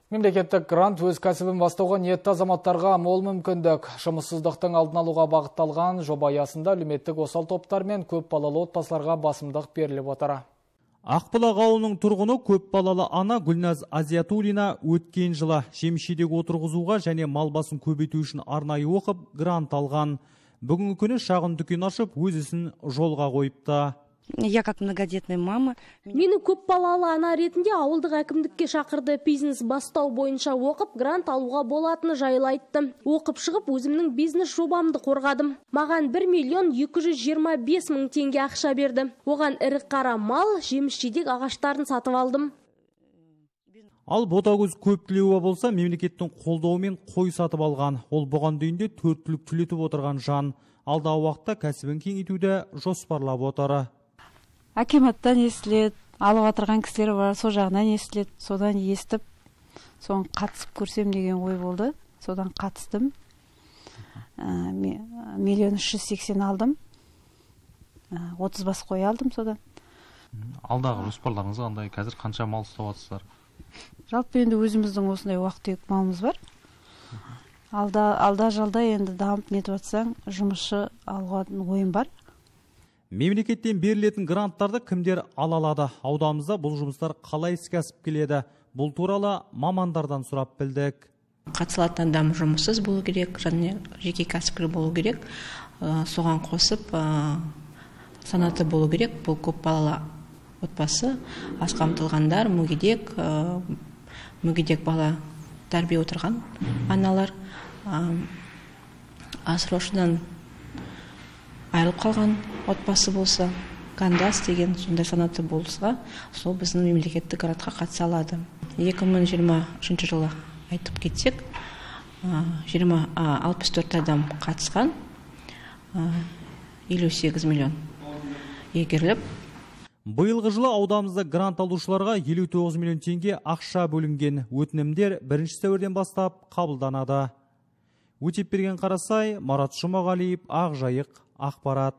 Мемлекеттік грант өз кәсібін бастауға ниетті азаматтарға мол мүмкіндік. Жұмыссыздықтың алдын алуға бағытталған жоба аясында әлеуметтік осал топтар мен көп балалы отбасыларға басымдық беріліп отыр. Ақбұлақ ауылының тұрғыны көп балалы ана Гүлназ Азиятуллина өткен жылы жемшедегі отырғызуға және мал басын көбейту үшін арнайы оқып грант алған. Бүгінгі күні шағын дүкен ашып, өз ісін жолға қойыпты. Я как многодетная мама. Мені көп балалы ана ретінде ауылдық әкімдікке шақырды. Бизнес бастау бойынша оқып, грант алуға болатыны жайлы айтты. Оқып шығып, өзімнің бизнес жобамды қорғадым. Маған 1 225 000 теңге ақша берді. Оған ірі қара мал, жеміс-жидек ағаштарын сатып алдым. Ал ботагөз көп тілеуі болса, мемлекеттің қолдауымен қой сатып алған. Ол бұған дейінде 4 түлік түлетіп отырған жан. Алдағы уақытта кәсібін кеңейтуді жоспарлап отыр. Акиматтан естіледі, алып отырған кісілер бар, сол жағынан естіледі, содан естіп, соған қатысып көрсем деген ой болды. Содан қатыстым. 1,380,000 алдым. 30 бас қой алдым содан. Алдағы жоспарларыңыз қандай? Қазір қанша мал ұстап жатсыздар? Жалпы енді өзіміздің осындай уақыт малымыз бар. Алда жалда енді дамып нетіп жатсаң, жұмысшы алуға ойым бар. Мемлекеттен берілетін гранттарды кімдер ала алады? Ауданымызда бұл жұмыстар қалай іске асып келеді? Бұл туралы мамандардан сұрап білдік. Қатысылатын адам жұмыссыз болу керек, және жеке кәсіпкер болу керек. Соған қосып санаты болу керек. Бұл көп балалы отбасы, аз қамтылғандар, мүгедек бала тәрбие отырған аналар, асыраушыдан айырылып қалған отбасы болса, кандас деген сондай санаты болса, сол біздің мемлекеттік грантқа қатыса алады. 2023 жылы айтып кетсек, 64 адам қатысқан, 58 миллион егеріліп. Биылғы жылы ауданымызда грант алушыларға 59 миллион теңге ақша бөлінген. Өтінімдер 1 сәуірден бастап қабылданады. Өтеп берген Қарасай, Марат Жұмағалиев, Ақжайық, Ақпарат.